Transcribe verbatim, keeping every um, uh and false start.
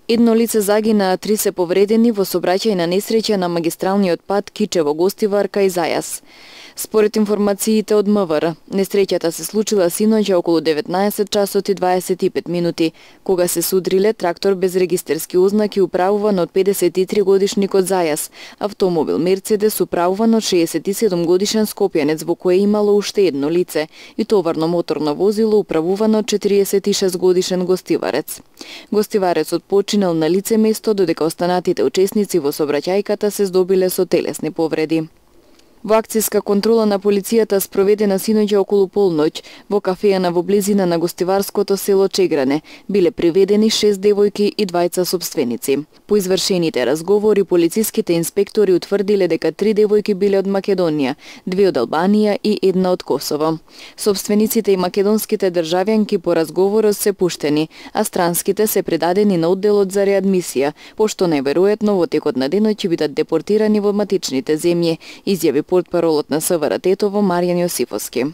Едно лице загина, а три се повредени во сообраќајна несреќа на магистралниот пат Кичево-Гостивар кај Зајас. Според информациите од МВР, несреќата се случила синоќа околу деветнаесет часот и дваесет и пет минути, кога се судриле трактор без регистерски ознаки управуван од педесет и три годишникот Зајас, автомобил Мерцедес управуван од шеесет и седум годишен скопјанец во кое имало уште едно лице и товарно моторно возило управувано од четириесет и шест годишен гостиварец. Гостиварецот починал на лице место, додека останатите учесници во сообраќајката се здобиле со телесни повреди. Во акцијска контрола на полицијата спроведена синоќа околу полноќ во кафејана во близина на гостиварското село Чегране биле приведени шест девојки и двајца сопственици. По извршените разговори полициските инспектори утврдиле дека три девојки биле од Македонија, две од Албанија и една од Косово. Собствениците и македонските државјанки по разговорот се пуштени, а странските се предадени на одделот за реадмисија, пошто најверојатно во текот на денот ќе бидат депортирани во матичните земји, изјави портпаролот на СВР Тетово Маријан Јосифовски.